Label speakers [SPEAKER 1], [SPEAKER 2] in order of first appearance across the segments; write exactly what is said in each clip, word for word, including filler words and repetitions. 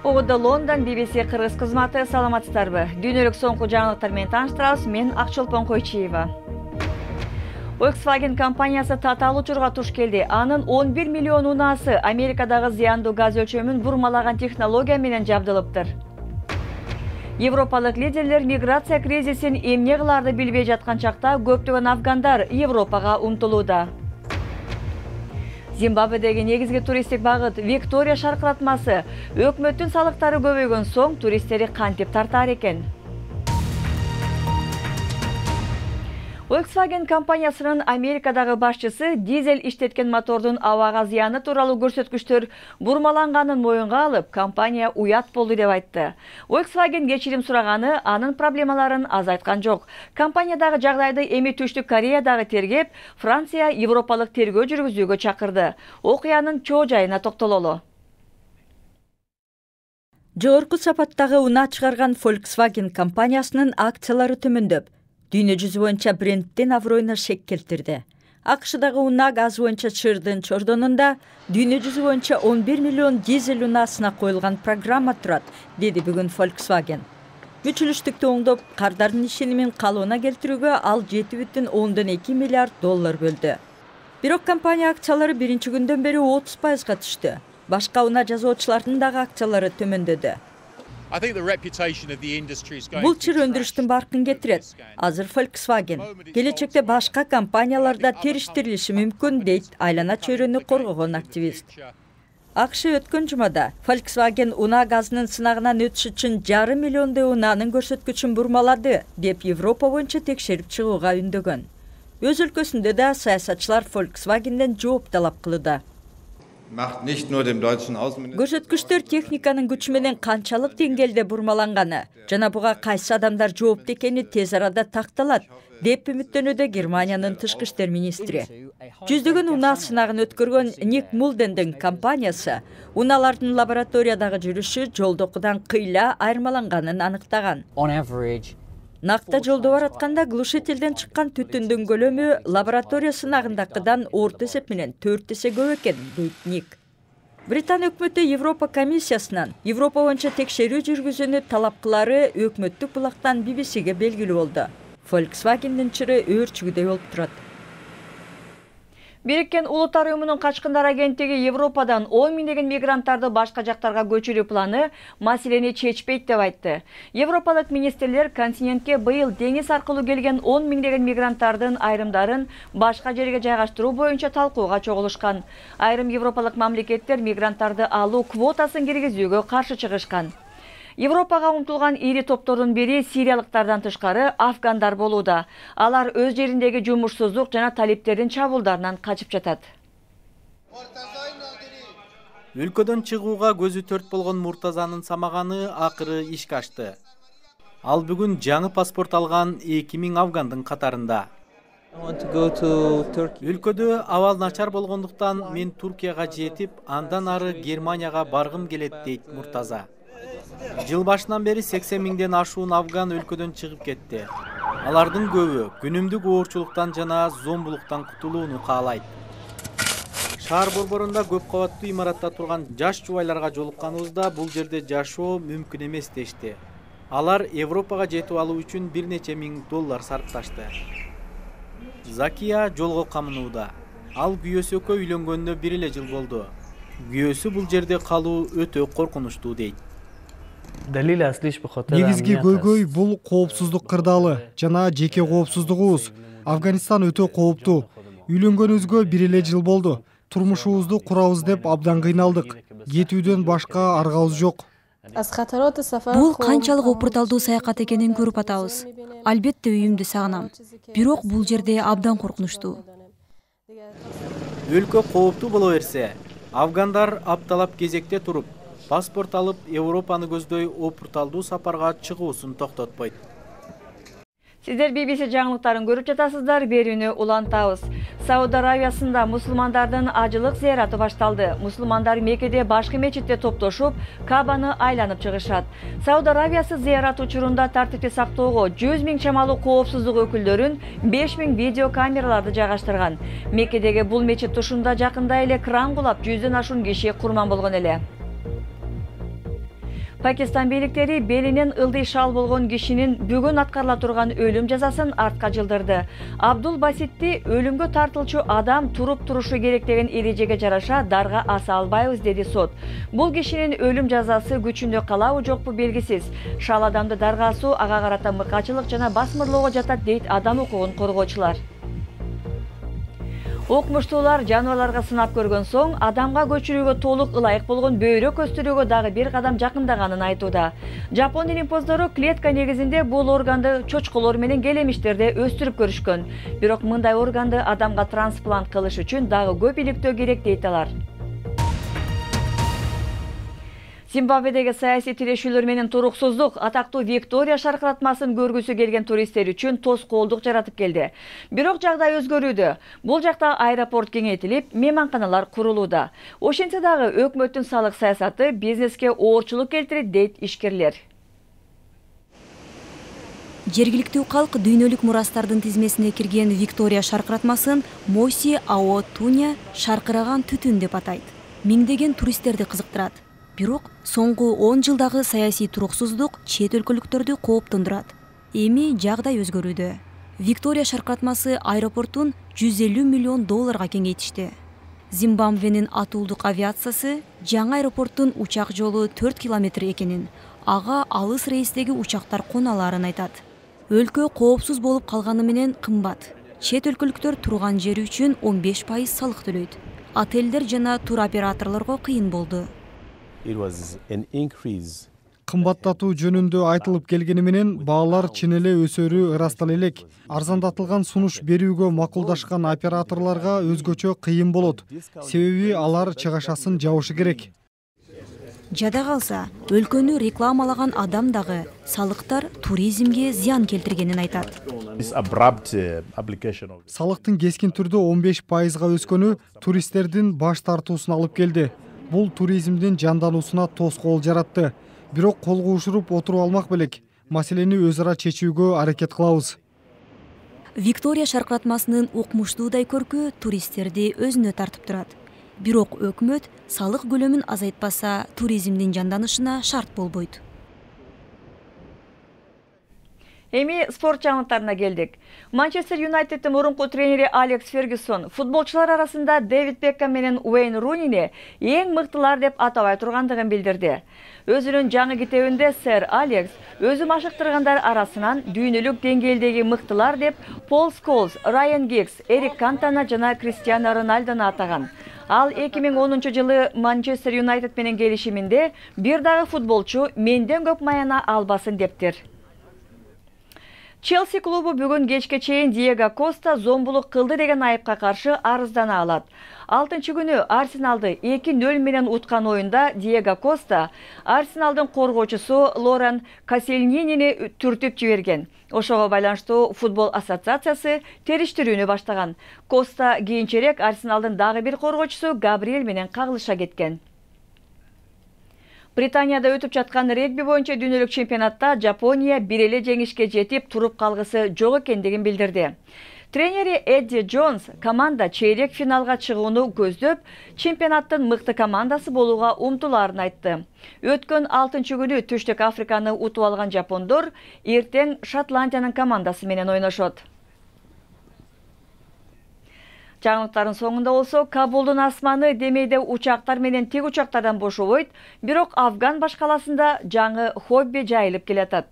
[SPEAKER 1] Угуду Лондон би би си кыргыз кызматы, саламатсыздарбы? Дүйнөлүк соңку жаңылыктар менен тааныштырабыз. Мен Акчолпон Койчиева. Volkswagen компаниясы татаал учурга туш келди. Анын он бир миллион унаасы Америкадагы зыяндуу газ өлчөмүн бурмалаган технология менен жабдылыптыр. Европалык лидерлер миграция кризисин эмне кылаарды билбей жаткан чакта көптөгөн афгандар Европага умтулууда. Зимбабведеги негизги туристтик багыт Виктория шаркыратмасы өкмөттүн салыктары көбөйгөн соң туристтери кантип тартаар экен? Volkswagen компаниясынын Америкадагы башчысы дизель иштеткен мотордун абага зыяны тууралуу көрсөткүчтөр бурмаланганын моюнга алып, компания уят болду деп айтты. Volkswagen кечирим сураганы, анын проблемаларын азайткан жок. Компаниядагы жагдайды эми Түштүк Кореядагы тергеп, Франция европалык тергөө жүргүзүүгө чакырды. Окуянын чоо жайына токтололу.
[SPEAKER 2] Жогорку сапаттагы унаа чыгарган Volkswagen компаниясынын акциялары төмөндөп, дүйнө жүзү боюнча брендтин аброюна шек келтирди. АКШдагы унаа газ боюнча чырдын чордонунда дүйнө жүзү боюнча он бир миллион дизель унаасына коюлган программа турат, деди бүгүн Volkswagen. Мүчүлүштүктү оңдоп, кардардын ишенимин калыбына келтирүүгө ал жети бүтүн ондон эки миллиард доллар бөлдү. Бирок компания акциялары биринчи күндөн бери отуз пайызга түштү. Башка унаа жасоочулардын дагы акциялары төмөндөдү. Бул чыр өндүрүштүн баркын кетирет. Азыр Volkswagen келечекте башка компанияларда териштирилиши мүмкүн, дейт айлана чөйрөнү коргогон активист. АКШ өткөн жумада Volkswagen унаа газынын сынагынан өтүш үчүн жарым миллиондой унаанын көрсөткүчүн бурмалады, деп Европа боюнча текшерип чыгууга үндөгөн. Өз өлкөсүндө да саясатчылар Volkswagendен жооп талап кылууда. Көрсөткүчтөр техниканын күчү менен канчалык деңгээлде бурмаланганы жана буга кайсы адамдар жоопту экени тез арада такталат, деп үмүттөнүүдө Германиянын тышкы иштер министри. Жүздөгөн унаа сынагын өткөргөн Ник Мулдендин компаниясы унаалардын лабораториядагы жүрүшү жолдокудан кыйла айырмаланганын аныктаган. Накта жолдо баратканда глушительден чыккан түтүндүн көлөмү лаборатория сынагындакыдан орто эсеп менен төрт эсе көп экен, дейт Ник. Британ өкмөтү Европа комиссиясынан Европа боюнча текшерүү жүргүзүүнү талап кылары өкмөттүк булактан би би сиге белгилүү болду. Volkswagendин чыры өөрчүгүдөй болуп турат.
[SPEAKER 1] Бириккен Улуттар уюмунун качкындар агенттиги Европадан он миңдеген мигранттарды башка жактарга көчүрүү планы маселени чечпейт деп айтты. Европалык министрлер континентке быйыл деңиз аркылуу келген он миңдеген мигранттардын айрымдарын башка жерге жайгаштыруу боюнча талкууга чогулушкан. Айрым европалык мамлекеттер мигранттарды алуу квотасын киргизүүгө каршы чыгышкан. Европага умтулган ири топтордун бири сириялыктардан тышкары афгандар болууда. Алар өз жериндеги жумушсуздук жана талиптердин чабуулдарынан качып жатат.
[SPEAKER 3] Өлкөдөн чыгууга көзү төрт болгон Муртазанын самаганы акыры ишке ашты. Ал бүгүн жаңы паспорт алган эки миң афгандын катарында. Өлкөдө абал начар болгондуктан мен Туркияга жетип, андан ары Германияга баргым келет, дейт Муртаза. Жыл башынан бери сексен миңден ашуун афган өлкөдөн чыгып кетти. Алардын көбү күнүмдүк оорчулуктан жана зомбулуктан кутулууну каалайт. Шаар борборунда көп кабаттуу имаратта турган жаш жубайларга жолукканыбызда бул жерде жашоо мүмкүн эмес дешти. Алар Европага жетип алуу үчүн бир нече миң доллар сарпташты. Закия жолго камынууда. Ал күйөөсү экөө үйлөнгөнүнө бир эле жыл болду. Күйөөсү бул жерде калуу өтө коркунучтуу, дейт.
[SPEAKER 4] Негизги көйгөй бул коопсуздук кырдаалы жана жеке коопсуздугубуз. Афганистан өтө кооптуу. Үйлөнгөнүбүзгө бир эле жыл болду. Турмушубузду курабыз деп абдан кыйналдык. Кетүүдөн башка аргабыз жок.
[SPEAKER 5] Бул канчалык опурталдуу саякат экенин көрүп атабыз. Албетте үйүмдү сагынам. Бирок бул жерде абдан коркунучтуу.
[SPEAKER 3] Өлкө кооптуу боло берсе, афгандар апталап кезекте туруп, паспорт алып Европаны көздөй опурталдуу сапарга чыгуусун токтотпойт.
[SPEAKER 1] Сиздер би би си жаңылыктарын көрүп жатасыздар, берүүнү улантабыз. Сауд Аравиясында мусулмандардын ажылык зыяраты башталды. Мусулмандар Меккеде башкы мечитте топтошуп, Кабаны айланып чыгышат. Сауд Аравиясы зыярат учурунда тартипти сактоого жүз миң чамалуу коопсуздук өкүлдөрүн беш миң видео камераларды жайгаштырган. Меккедеги бул мечит тушунда жакында эле кран кулап жүздөн ашуун киши курман болгон эле. Пакистан бийликтери белинен ылдый шал болгон кишинин бүгүн аткарыла турган өлүм жазасын артка жылдырды. Абдул Баситти өлүмгө тартылчу адам туруп турушу керек деген эрежеге жараша дарга аса албайбыз, деди сот. Бул кишинин өлүм жазасы күчүндө калабы жокпу белгисиз. Шал адамды дарга асуу ага карата мыкачылык жана басмырлоого жатат, дейт адам укугун коргоочулар. Окумуштуулар жаныбарларга сынап көргөн соң адамга көчүрүүгө толук ылайык болгон бөйрөк өстүрүүгө дагы бир кадам жакындаганын айтууда. Жапон илимпоздору клетка негизинде бул органды чочколор менен келемиштерде өстүрүп көрүшкөн. Бирок мындай органды адамга трансплант кылыш үчүн дагы көп иликтөө керек, дейт алар. Зимбабведеги саясий тирешүүлөр менен туруксуздук атактуу Виктория шаркыратмасын көргүсү келген туристтер үчүн тоскоолдук жаратып келди. Бирок жагдай өзгөрүүдө. Бул жакта аэропорт кеңейтилип, мейманканалар курулууда. Ошентсе дагы өкмөттүн салык саясаты бизнеске оорчулук келтирет, дейт ишкерлер.
[SPEAKER 5] Жергиликтүү калк дүйнөлүк мурастардын тизмесине кирген Виктория шаркыратмасын Моси Ао Туня шаркыраган түтүн деп атайт. Миңдеген туристтерди кызыктырат. Бирок соңку он жылдагы саясий туруксуздук чет өлкөлүктөрдү кооптондурат. Эми жагдай өзгөрүүдө. Виктория шаркыратмасы аэропортун жүз элүү миллион долларга кеңейтишти. Зимбабвенин атуулдук авиациясы жаңы аэропорттун учак жолу төрт километр экенин, ага алыс рейстеги учактар кона аларын айтат. Өлкө коопсуз болуп калганы менен кымбат. Чет өлкөлүктөр турган жери үчүн он беш пайыз салык төлөйт. Отелдер жана туроператорлорго кыйын болду.
[SPEAKER 4] Кымбаттатуу жөнүндө айтылып келгени менен баалар чын эле өсөрү ырастала элек. Арзандатылган сунуш берүүгө макулдашкан операторлорго өзгөчө кыйын болот. Себеби алар чыгашасын жабышы керек.
[SPEAKER 5] Жада калса, өлкөнү рекламалаган адам дагы салыктар туризмге зыян келтиргенин айтат.
[SPEAKER 4] Салыктын кескин түрдө он беш пайызга өскөнү туристтердин баш тартуусун алып келди. Бул туризмдин жандануусуна тоскоол жаратты. Бирок колго ушуруп отуруп алмак белек. Маселени өз ара чечүүгө аракет кылабыз.
[SPEAKER 5] Виктория шаркыратмасынын укмуштуудай көркү туристтерди өзүнө тартып турат. Бирок өкмөт салык көлөмүн азайтпаса, туризмдин жанданышына шарт болбойт.
[SPEAKER 1] Эми спорт жаңылыктарына келдик. Манчестер Юнайтеддин мурунку тренери Алекс Фергюсон футболчулар арасында Дэвид Бекхэм менен Уэйн Рунини эң мыктылар деп атабай тургандыгын билдирди. Өзүнүн жаңы китебинде сэр Алекс өзү машыктыргандар арасынан дүйнөлүк деңгээлдеги мыктылар деп Пол Сколз, Райан Гиггс, Эрик Кантана жана Криштиану Роналдуну атаган. Ал эки миң онунчу жылы Манчестер Юнайтед менен келишиминде бир дагы футболчу менден көп маяна албасын дептир. Челси клубу бүгүн кечке чейин Диего Коста зомбулук кылды деген айыпка каршы арыздана алат. алтынчы күнү Арсеналды эки нөл менен уткан оюнда Диего Коста Арсеналдын коргоочусу Лоран Касельнинини түртүп жиберген. Ошого байланыштуу футбол ассоциациясы териштирүүнү баштаган. Коста кийинчерээк Арсеналдын дагы бир коргоочусу Габриэль менен кагылыша кеткен. Британияда өтүп жаткан регби боюнча дүйнөлүк чемпионатта Жапония бир эле жеңишке жетип туруп калгысы жок экендигин билдирди. Тренери Эдди Джонс команда чейрек финалга чыгууну көздөп, чемпионаттын мыкты командасы болууга умтулаарын айтты. Өткөн алтынчы күнү Түштүк Африканы утуп алган жапондор эртең Шотландиянын командасы менен ойношот. Жаңылыктардын соңунда болсо, Кабулдун асманы демейде учактар менен тик учактардан бошобойт, бирок Афган башкаласында жаңы хобби жайылып келатат.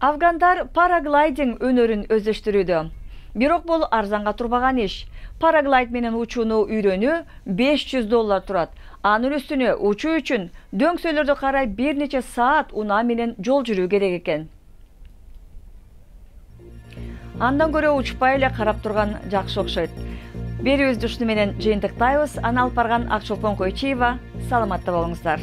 [SPEAKER 1] Афгандар параглайдинг өнөрүн өздөштүрүүдө. Бирок бул арзанга турбаган иш. Параглайд менен учууну үйрөнүү беш жүз доллар турат. Анын үстүнө учуу үчүн дөңсөлөрдү карай бир нече саат унаа менен жол жүрүү керек экен. Андан көрө учпай эле карап турган жакшы окшойт. Берүүбүздү ушуну менен жыйынтыктайбыз. Аны алып барган Акчолпон Койчиева. Саламатта болуңуздар.